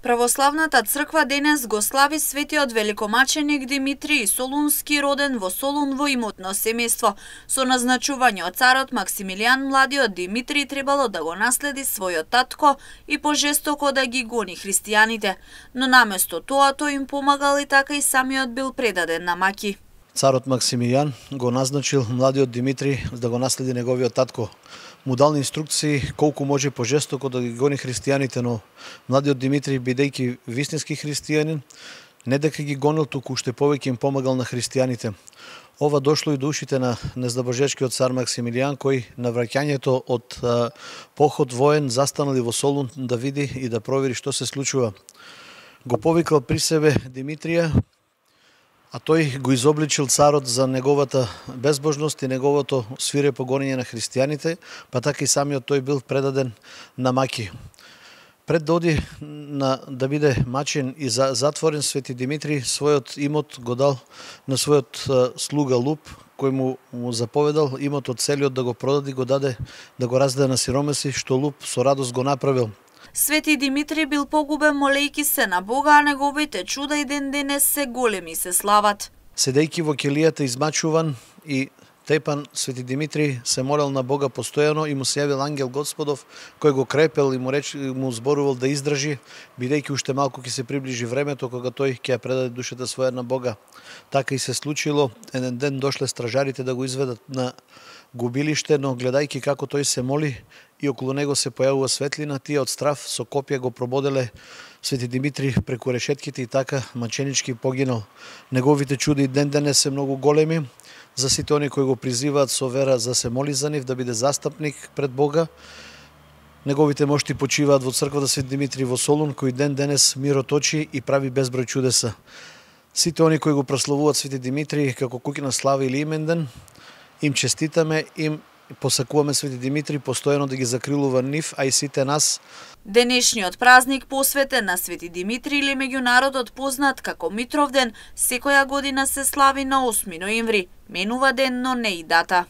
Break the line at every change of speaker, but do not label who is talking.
Православната црква денес го слави светиот великомаченик Димитрий Солунски, роден во Солун во имотно семејство. Со назначување од царот Максимилијан, младиот Димитрий требало да го наследи својот татко и пожестоко да ги гони христијаните. Но наместо тоа тој им помагал и така и самиот бил предаден на маки.
Царот Максимилијан го назначил младиот Димитрий да го наследи неговиот татко. Му дал инструкции колку може пожестоко да ги гони христијаните, но младиот Димитрий, бидејќи вистински христијанин, не дека ги гонил, туку уште повеќе им помагал на христијаните. Ова дошло и до ушите на нездабожечкиот цар Максимилијан, кој на враќањето од поход воен застанал и во Солун да види и да провери што се случува. Го повикал при себе Димитрија, а тој го изобличил царот за неговата безбожност и неговото свирепо гонење на христијаните, па така и самиот тој бил предаден на маки. Пред да оди да биде мачен и затворен, Свети Димитрий својот имот го дал на својот слуга Луп, кој му заповедал имотот целиот да го продаде, го даде да го раздаде на сиромаси, што Луп со радост го направил.
Свети Димитрий бил погубен молејки се на Бога, а неговите чуда и ден денес се големи и се слават.
Седејќи во келијата измачуван и тепан, Свети Димитрий се молел на Бога постојано и му се јавил ангел Господов, кој го крепел и му зборувал да издржи, бидејќи уште малку ќе се приближи времето кога тој ќе ја предаде душата своја на Бога. Така и се случило. Еден ден дошле стражарите да го изведат на губилиште, но гледајќи како тој се моли и околу него се појавува светлина, тие од страв со копија го прободеле Свети Димитрий преку решетките и така маченички погинал. Неговите чуди ден денес се многу големи за сите они кои го призиваат со вера за се моли за нив, да биде застапник пред Бога. Неговите мошти почиваат во црквата Свети Димитрий во Солун, кој ден денес мироточи и прави безброј чудеса. Сите они кои го прославуваат Свети Димитрий како куќна слава или именден, им честитаме, им посакуваме Свети Димитрий постојано да ги закрилува нив, а и сите нас.
Денешниот празник посветен на Свети Димитрий или меѓу народот познат како Митровден, секоја година се слави на 8 ноември. Менува ден, но не и дата.